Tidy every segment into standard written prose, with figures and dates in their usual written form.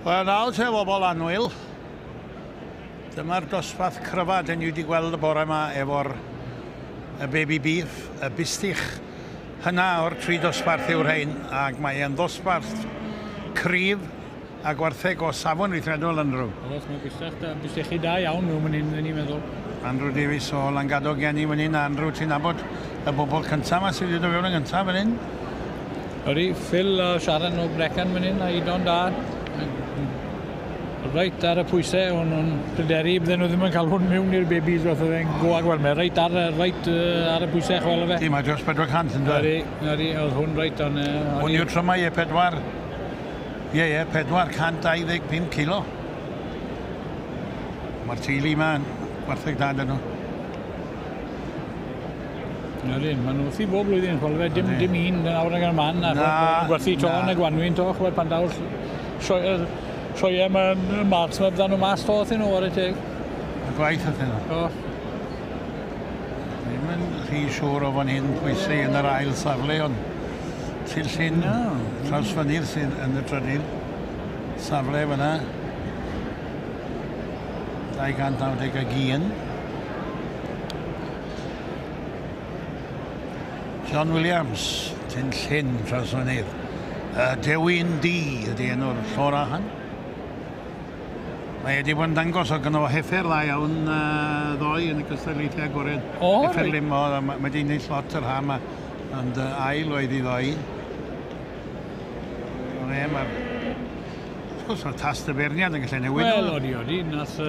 Wel, nawr te bobl annwyl, dyma'r dosbarth cryfa dyn ni wedi gweld y bore yma efo'r y baby beef, y bistych hynna o'r tri dosbarth yw'r rhain, ac mae e'n ddosbarth cryf a gwartheg o safon weithredol, Andrew. Oes, mae bistach da, bistechi da iawn nhw fan hyn, ni'n meddwl. Andrew Davies o Langadog gen i fan hyn, Andrew, ti'n nabod y bobl cyntaf yma sydd wedi dod fewn yn gyntaf fan hyn? Ydy, Phil a Sharon o Brecon fan hyn, a Idon da. Reit ar y pwysau, o'n nhw'n pryderu, bydden nhw ddim yn cael hwn mewn i'r babies, fath oedd e'n go ag wel, mae reit ar, reit, ar y pwysau chwel o fe. Di, mae dros 400 yn dweud. Ydy, ydy, oedd hwn reit on... Hwn yw'r trymau, ie, pedwar, ie, ie, 425 kilo. Mae'r teulu yma yn gwartheg da dyn nhw. Ydyn, maen nhw wrthi bob blwyddyn, chwel fe, dim, dim un awr ag yn man, a gwerthu to yn y gwanwyn to, chwel pan daw'r sioeau yma yn March, mae byddan nhw mas to wrthyn nhw, ar y teg. Y gwaith wrthyn nhw. O. Ddim yn rhy siŵr o fan hyn pwysau yn yr ail safle, ond Tilllyn no. Trawsfynydd sydd yn y trydydd safle fyna. 291. John Williams, Tyn Llyn, Trawsfynydd. Dewin D ydy enw'r llora hyn. Mae wedi bod yn dangos o gynno fo heffer dda iawn ddoe yn y cystadlaethau agored. O, heffer lim o, mae wedi ennill lot yr ha yma, ond ail oedd i ddoe. Ond e, mae'r... Wrth gwrs, mae'r tast y beirniad yn gallu newid. Wel, odi, odi, nath...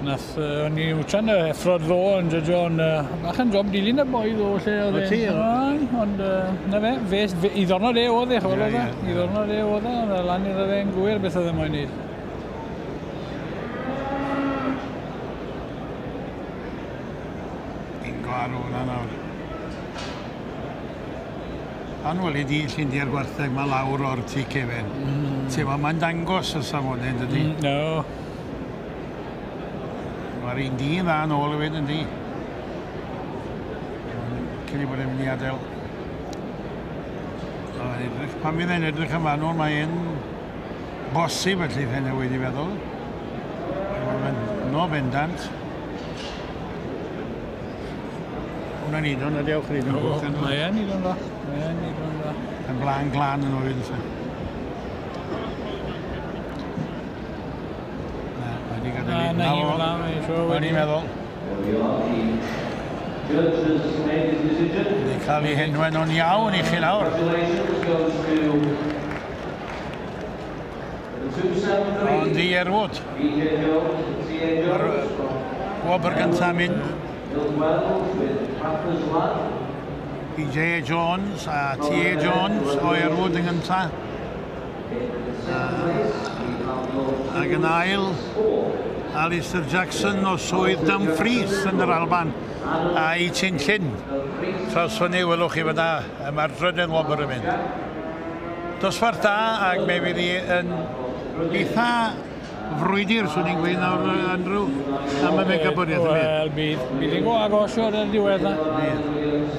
Nath, o'n i wtsan y effrod ddo yn jyjo, ond bach yn job dilyn y boi ddo, lle oedd e. O ti? Ond na fe, fe, i ddornod e oedd e, chwel oedd e. I ddornod e oedd e, ond lan iddo fe'n gwir beth oedd e moyn neud. Bingo ar hwnna nawr. Anwyl i di Llundiau'r gwartheg mae lawr o'r tŷ cefen. Mm. Mae'n dangos y safonau, dydy? No. Mae'r un dyn dda yn ôl hefyd, yndi? Cyn i bod e'n mynd i adael. Edrych, pan fydd e'n edrych yn fanwl, mae'n bosib felly fe newid i feddwl. Mae'n no bendant. Hwna'n idon, a diolch yn idon. Mae e'n idon dda. Mae e'n idon dda. Yn blaen glan yn oed. Na, na hi fel 'na, O'n i'n meddwl. Wedi cael ei henwen nhw'n iawn i chi nawr. Ond i Erwood. Mae'r wobr gyntaf mynd. BJ Jones a T.A. Jones o Erwood yn gyntaf. Ac yn ail, Alistair Jackson o swydd Dumfries yn yr Alban a'i Tyn Llyn. Trawsfyny, welwch chi fyna, mae'r drydedd wobr yn mynd. Dosbarth da, ac mae fydd hi yn eitha frwydr, swn i'n gweud nawr, Andrew, am y megabwriaeth. Wel, bydd. Bydd hi'n go agos o'r diwedd na. Bydd.